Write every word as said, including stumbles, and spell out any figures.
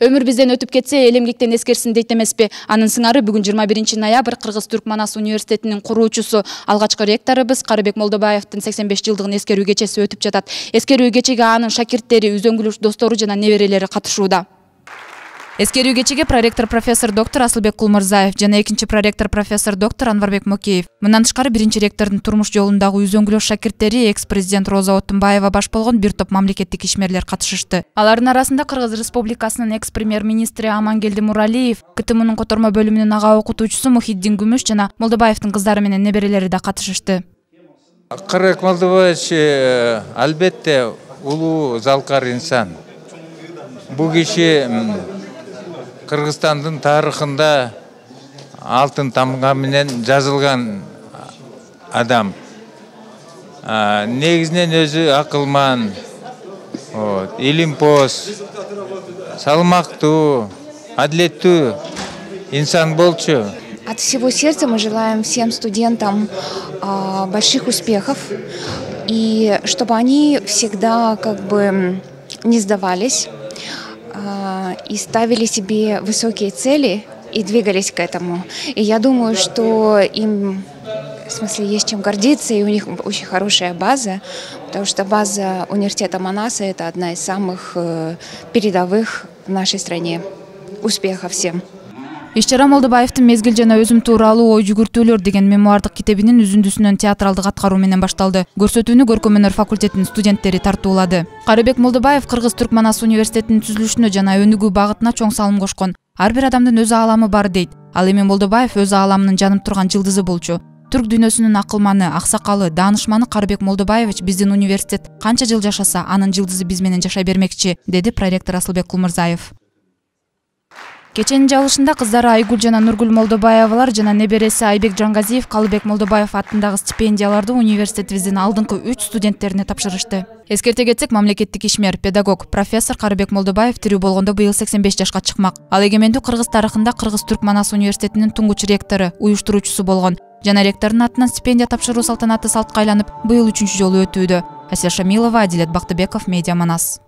Өмүр бизден өтүп кетсе, эл эмгектен эскерсин дейт эмеспи? Анын сыңары бүгүн жыйырма биринчи ноябрь Кыргыз-Түрк Манас университетинин куруучусу, алгачкы ректорубуз Карыбек Молдобаевдин сексен беш жылдыгын эскерүү кечеси өтүп жатат. Эскерүү кечеге анын шакирттери, үзөңгүлөш достору жана неберелери катышууда. Эскерүү кечеге проректор профессор доктор Асылбек Кулмурзаев жана экинчи проректор профессор доктор Анварбек Мокеев. Мындан тышкары биринчи ректордун турмуш жолундагы үзөңгүлөш шакирттери, экс-президент Роза Отунбаева баш болгон бир топ мамлекеттик ишмерлер катышышты. Алардын арасында Кыргыз Республикасынын экс-премьер-министри Амангелди Муралиев, КТМнун котормо бөлүмүнүн ага окутуучусу Мухиддин Күмүш жана Молдобаевдин кыздары менен неберелери да катышышты. Карыбек Молдобаевич албетте улуу залкар инсан. Бул киши Кыргызстандын тарыхында алтын тамга менен жазылган адам. Негизинен өзү акылман, илимпоз, салмактуу, адилеттүү инсан болчу. От всего сердца мы желаем всем студентам а, больших успехов, и чтобы они всегда как бы не сдавались, и ставили себе высокие цели и двигались к этому. И я думаю, что им, в смысле, есть чем гордиться, и у них очень хорошая база, потому что база университета Манаса — это одна из самых передовых в нашей стране. Успехов всем! Иш-чара Молдобаевдин «Мезгил жана өзүм тууралуу ой жүгүртүүлөр» деген мемуардык китебинин үзүндүсүнөн театралдык аткаруу менен башталды. Көрсөтүүнү көркөм өнөр факультетинин студенттери тартуулады. Карыбек Молдобаев Кыргыз-Түрк Манас университетинин түзүлүшүнө жана өнүгүү багытына чоң салым кошкон. Ар бир адамдын өз ааламы бар дейт. Ал эми Молдобаев өз ааламынын жанып турган жылдызы болчу. Түрк дүйнөсүнүн акылманы, аксакалы, даанышманы Карыбек Молдобаевич биздин университет канча жыл жашаса, анын жылдызы биз менен жашай бермекчи, деди проректор Асылбек Кулмурзаев. Кеченин жабылышында кыздары Айгүл жана Нургүл Молдобаевалар жана небереси Айбек Жангазиев Калыбек Молдобаев аттындагы стипендияларды университетибиздин алдыңкы үч студенттерине тапшырышты. Эскерте кетсек, мамлекеттик ишмер, педагог, профессор Карыбек Молдобаев тирүү болгондо быйыл сексен беш жашка чыкмак. Ал эгемендүү Кыргыз тарыхында Кыргыз-Түрк Манас университетинин туңгуч ректору, уюштуруучусу болгон жана ректордун атынан стипендия тапшыруу салтанаты салтка айланып, быйыл үчүнчү жолу өтүүдө. Асия Шамилова, Адилет Бактыбеков, Медиа Манас.